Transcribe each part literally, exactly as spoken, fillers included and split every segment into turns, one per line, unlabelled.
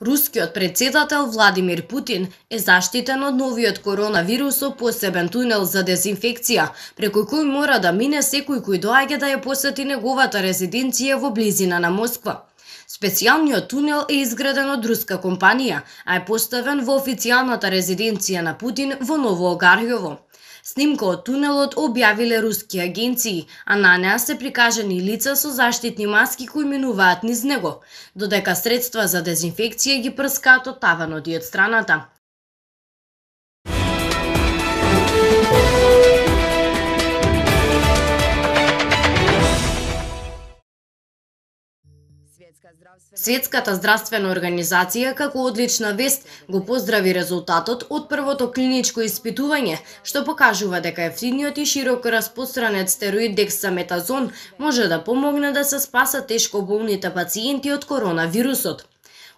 Рускиот председател Владимир Путин е заштитен од новиот коронавирус со посебен тунел за дезинфекција, преку кој мора да мине секој кој доаѓа да ја посети неговата резиденција во близина на Москва. Специјалниот тунел е изграден од руска компанија, а е поставен во официјалната резиденција на Путин во Ново Огарјово. Снимка од тунелот објавиле руски агенции, а на неа се прикажани лица со заштитни маски кои минуваат низ него, додека средства за дезинфекција ги прскаат од таванот и од страната. Светската здравствена организација како одлична вест го поздрави резултатот од првото клиничко испитување, што покажува дека ефтиниот и широко распространет стероид дексаметазон може да помогне да се спасат тешко болните пациенти од коронавирусот.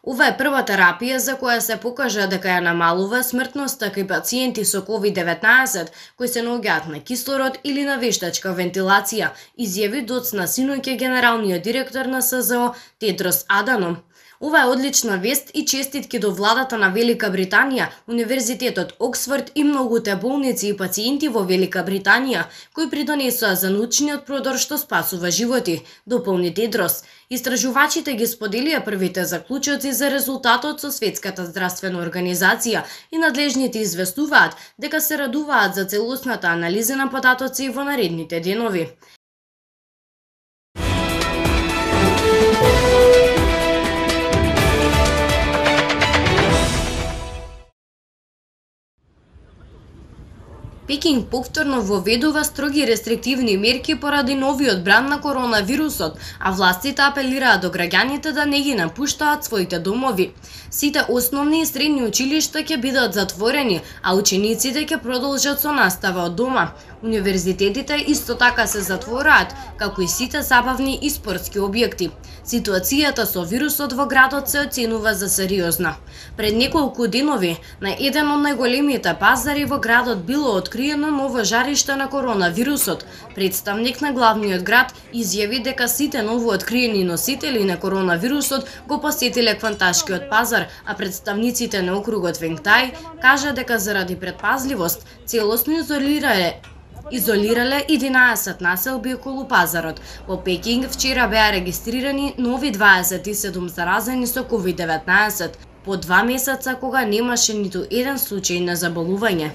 Ова е прва терапија за која се покажа дека ја намалува смртноста кај пациенти со ковид деветнаесет кои се наоѓаат на кислород или на вештачка вентилација, изјави доцна синоќа генералниот директор на С З О Тедрос Аданом. Ова е одлична вест и честитки до владата на Велика Британија, Универзитетот Оксфорд и многуте болници и пациенти во Велика Британија, кои придонесоа за научниот продор што спасува животи, дополни Тедрос. Истражувачите ги споделија првите заклучоци за резултатот со Светската здравствена организација и надлежните известуваат дека се радуваат за целосната анализа на податоци во наредните денови. Пекинг повторно воведува строги рестриктивни мерки поради новиот бранд на коронавирусот, а властите апелираат до граѓаните да не ги напуштаат своите домови. Сите основни и средни училишта ќе бидат затворени, а учениците ќе продолжат со настава од дома. Универзитетите исто така се затвораат, како и сите забавни и спортски објекти. Ситуацијата со вирусот во градот се оценува за сериозна. Пред неколку денови, на еден од најголемите пазари во градот било откриено ново жариште на коронавирусот. Представник на главниот град изјави дека сите новооткриени носители на коронавирусот го посетиле Кванташкиот пазар, а представниците на округот Венгтај кажа дека заради предпазливост целосно изолирале Изолирале единаесет населби околу пазарот. Во Пекинг вчера беа регистрирани нови дваесет и седум заразени со ковид деветнаесет, по два месеца кога немаше ниту еден случај на заболување.